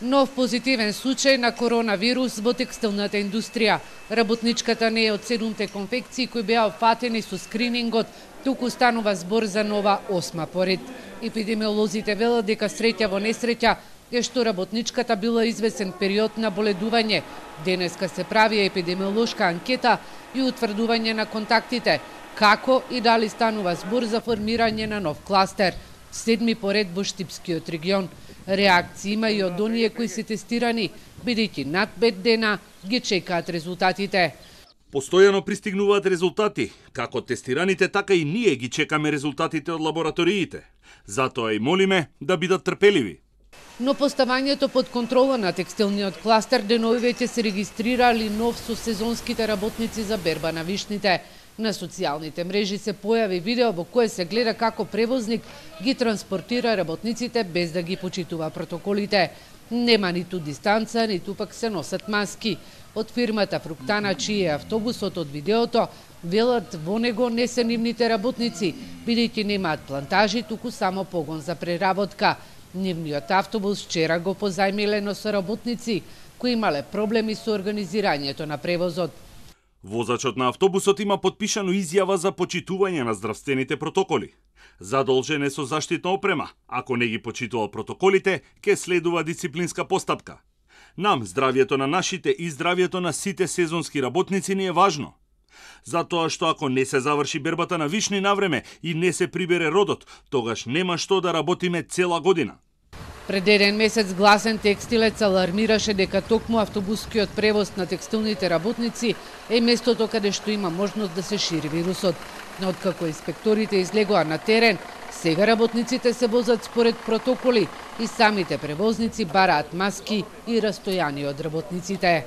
Нов позитивен случај на коронавирус во текстилната индустрија. Работничката не е од 7 конфекции кои беа опфатени со скринингот, туку станува збор за нова 8 поред. Епидемиолозите велат дека среќа во несреќа е што работничката била извесен период на боледување. Денеска се прави епидемиолошка анкета и утврдување на контактите, како и дали станува збор за формирање на нов кластер. 7 поред во Штипскиот регион. Реакции има и од оние кои се тестирани, бидејќи над 5 дена ги чекаат резултатите. Постојано пристигнуваат резултати, како тестираните, така и ние ги чекаме резултатите од лабораториите. Затоа и молиме да бидат трпеливи. Но поставањето под контрола на текстилниот кластер денови веќе се регистрирали нов со сезонските работници за берба на вишните. На социјалните мрежи се појави видео во кое се гледа како превозник ги транспортира работниците без да ги почитува протоколите. Нема ниту дистанца, ниту пак се носат маски. Од фирмата Фруктана, чиј е автобусот од видеото, велат во него не се нивните работници, бидејќи немаат плантажи, туку само погон за преработка. Нивниот автобус вчера го позајмилено со работници кои имале проблеми со организирањето на превозот. Возачот на автобусот има потпишано изјава за почитување на здравствените протоколи. Задолжен е со заштитна опрема. Ако не ги почитува протоколите, ќе следува дисциплинска постапка. Нам здравјето на нашите и здравјето на сите сезонски работници ни е важно. Затоа што ако не се заврши бербата на вишни навреме и не се прибере родот, тогаш нема што да работиме цела година. Пред еден месец гласен текстилец алармираше дека токму автобускиот превоз на текстилните работници е местото каде што има можност да се шири вирусот. Но откако инспекторите излегоа на терен, сега работниците се возат според протоколи и самите превозници бараат маски и растојание од работниците.